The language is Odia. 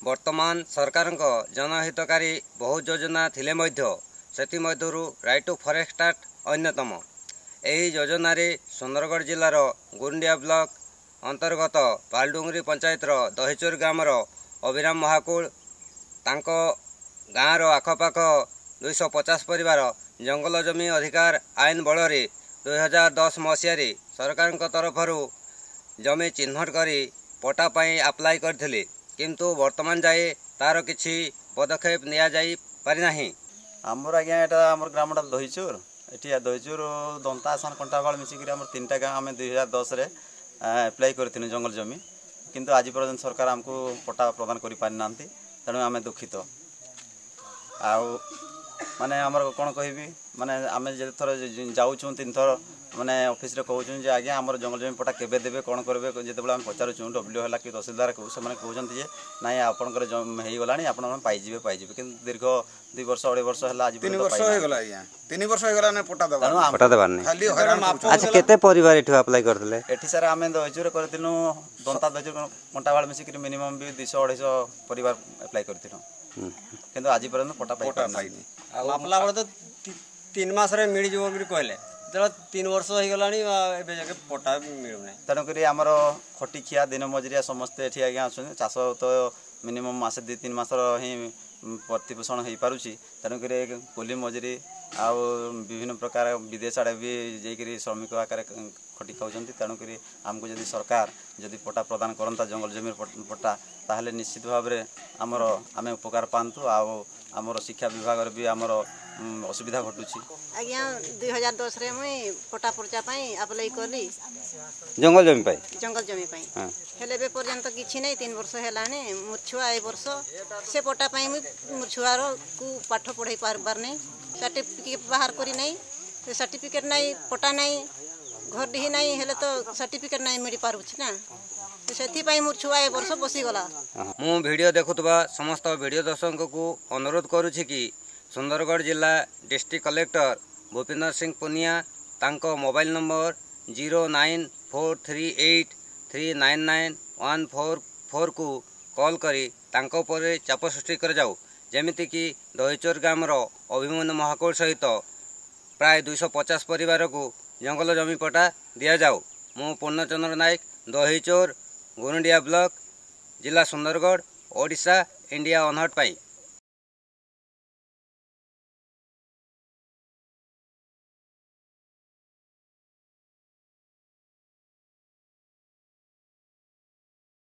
ବର୍ତ୍ତମାନ ସରକାରଙ୍କ ଜନହିତକାରୀ ବହୁ ଯୋଜନା ଥିଲେ ମଧ୍ୟ ସେଥିମଧ୍ୟରୁ ରାଇଟ୍ ଟୁ ଫରେଷ୍ଟ ଆକ୍ଟ ଅନ୍ୟତମ। ଏହି ଯୋଜନାରେ ସୁନ୍ଦରଗଡ଼ ଜିଲ୍ଲାର ଗୁରୁଣ୍ଡିଆ ବ୍ଲକ ଅନ୍ତର୍ଗତ ପାଲଡୁଙ୍ଗରି ପଞ୍ଚାୟତର ଦହିଚୋର ଗ୍ରାମର ଅଭିରାମ ମହାକୁଳ, ତାଙ୍କ ଗାଁର ଆଖପାଖ 250 ପରିବାର ଜଙ୍ଗଲ ଜମି ଅଧିକାର ଆଇନ ବଳରେ 2010 ମସିହାରେ ସରକାରଙ୍କ ତରଫରୁ ଜମି ଚିହ୍ନଟ କରି ପଟ୍ଟା ପାଇଁ ଆପ୍ଲାଏ କରିଥିଲେ, କିନ୍ତୁ ବର୍ତ୍ତମାନ ଯାଏ ତାର କିଛି ପଦକ୍ଷେପ ନିଆଯାଇ ପାରିନାହିଁ। ଆମର ଆଜ୍ଞା ଏଇଟା ଆମର ଗ୍ରାମଟା ଦହିଚୋର। ଏଠି ଦହିଚୋର, ଦନ୍ତା ଆସାନ, କଣ୍ଟାବାଳ ମିଶିକିରି ଆମର 3ଟା ଗାଁ। ଆମେ 2010ରେ ଆପ୍ଲାଏ କରିଥିଲୁ ଜଙ୍ଗଲ ଜମି, କିନ୍ତୁ ଆଜି ପର୍ଯ୍ୟନ୍ତ ସରକାର ଆମକୁ ପଟ୍ଟା ପ୍ରଦାନ କରିପାରିନାହାନ୍ତି। ତେଣୁ ଆମେ ଦୁଃଖିତ। ଆଉ ମାନେ ଆମର କ'ଣ କହିବି, ମାନେ ଆମେ ଯେତେଥର ଯାଉଛୁ, 3ଥର ମାନେ ଅଫିସରେ କହୁଛୁ ଯେ ଆଜ୍ଞା ଆମର ଜଙ୍ଗଲ ଜମି ପଟ୍ଟା କେବେ ଦେବେ, କ'ଣ କରିବେ? ଯେତେବେଳେ ଆମେ ପଚାରୁଛୁ ଡବ୍ଲ୍ୟୁ ହେଲା କି ତହସିଲଦାରକୁ, ସେମାନେ କହୁଛନ୍ତି ଯେ ନାଇଁ, ଆପଣଙ୍କର ହେଇଗଲାଣି, ଆପଣ ପାଇଯିବେ ପାଇଯିବେ। କିନ୍ତୁ ଦୀର୍ଘ 2 ବର୍ଷ 2.5 ବର୍ଷ ହେଲା, ଆଜି 3 ବର୍ଷ ହେଇଗଲା ଆଜ୍ଞା, 3 ବର୍ଷ ହେଇଗଲା ପଟ୍ଟା ଦେବା। ପଟ୍ଟା ଦେବାର ନାହିଁ, ଆଚ୍ଛା, କେତେ ପରିବାର ଏଠୁ ଆପ୍ଲାଏ କରିଥିଲେ? ଏଠି ସାର୍ ଆମେ ଦହିଚୁରେ କରିଥିଲୁ, ଦନ୍ତା, ଦହିଚୁର, କଣ୍ଟାବାଳ ମିଶିକିରି ମିନିମମ୍ ବି 200 250 ପରିବାର ଆପ୍ଲାଏ କରିଥିଲୁ, କିନ୍ତୁ ଆଜି ପର୍ଯ୍ୟନ୍ତ ପଟ୍ଟା ପାଇନି। ମାପଲା ବେଳେ ତ 3 ମାସରେ ମିଳିଯିବ ବୋଲି କହିଲେ, ଯେତେବେଳେ 3 ବର୍ଷ ହେଇଗଲାଣି ଏବେ ଯାକେ ପଟ୍ଟା ମିଳୁନାହିଁ। ତେଣୁକରି ଆମର ଖଟିଖିଆ ଦିନ ମଜୁରିଆ ସମସ୍ତେ ଏଠି ଆଜ୍ଞା ଅଛନ୍ତି। ଚାଷ ତ ମିନିମମ୍ ମାସେ 2 3 ମାସର ହିଁ ପ୍ରତିପୋଷଣ ହେଇପାରୁଛି। ତେଣୁକରି କୁଲି ମଜୁରୀ ଆଉ ବିଭିନ୍ନ ପ୍ରକାର ବିଦେଶ ଆଡ଼େ ବି ଯାଇକରି ଶ୍ରମିକ ଆକାରରେ ଖଟି ଖାଉଛନ୍ତି। ତେଣୁକରି ଆମକୁ ଯଦି ସରକାର ଯଦି ପଟ୍ଟା ପ୍ରଦାନ କରନ୍ତା, ଜଙ୍ଗଲ ଜମିର ପଟ୍ଟା, ତାହେଲେ ନିଶ୍ଚିତ ଭାବରେ ଆମର ଆମେ ଉପକାର ପାଆନ୍ତୁ। ଆଉ ଆମର ଶିକ୍ଷା ବିଭାଗରେ ବି ଆମର ଅସୁବିଧା ଘଟୁଛି। ଆଜ୍ଞା, 2010ରେ ମୁଇଁ ପଟ୍ଟା ପର୍ଚା ପାଇଁ ଆପ୍ଲାଏ କଲି ଜଙ୍ଗଲ ଜମି ପାଇଁ, ଜଙ୍ଗଲ ଜମି ପାଇଁ, ହେଲେ ଏବେ ପର୍ଯ୍ୟନ୍ତ କିଛି ନାହିଁ। 3 ବର୍ଷ ହେଲାଣି। ମୋ ଛୁଆ ଏ ବର୍ଷ ସେ ପଟ୍ଟା ପାଇଁ ମୁଇଁ ମୋ ଛୁଆରକୁ ପାଠ ପଢ଼େଇ ପାରବାର ନାହିଁ। ସାର୍ଟିଫିକେଟ୍ ବାହାର କରି ନାହିଁ, ସାର୍ଟିଫିକେଟ୍ ନାହିଁ, ପଟ୍ଟା ନାହିଁ, ଘର ଡିହି ନାହିଁ, ହେଲେ ତ ସାର୍ଟିଫିକେଟ୍ ନାହିଁ ମିଳିପାରୁଛି ନା, ସେଥିପାଇଁ ମୋ ଛୁଆ ଏ ବର୍ଷ ବସିଗଲା। ମୁଁ ଭିଡ଼ିଓ ଦେଖୁଥିବା ସମସ୍ତ ଭିଡ଼ିଓ ଦର୍ଶକଙ୍କୁ ଅନୁରୋଧ କରୁଛି କି ସୁନ୍ଦରଗଡ଼ ଜିଲ୍ଲା ଡିଷ୍ଟ୍ରିକ୍ଟ କଲେକ୍ଟର ଭୂପିନ୍ଦର ସିଂ ପୁନିଆ, ତାଙ୍କ ମୋବାଇଲ ନମ୍ବର 09438399 144କୁ କଲ୍ କରି ତାଙ୍କ ଉପରେ ଚାପ ସୃଷ୍ଟି କରାଯାଉ, ଯେମିତିକି ଦହିଚୋର ଗ୍ରାମର ଅଭିମନ୍ୟୁ ମହାକୁଳ ସହିତ ପ୍ରାୟ 250 ପରିବାରକୁ ଜଙ୍ଗଲ ଜମି ପଟ୍ଟା ଦିଆଯାଉ। ମୁଁ ପୂର୍ଣ୍ଣଚନ୍ଦ୍ର ନାୟକ, ଦହିଚୋର, ଗୁରୁଣ୍ଡିଆ ବ୍ଲକ, ଜିଲ୍ଲା ସୁନ୍ଦରଗଡ଼, ଓଡ଼ିଶା, ଇଣ୍ଡିଆ ଅନହର୍ଡ ପାଇଁ।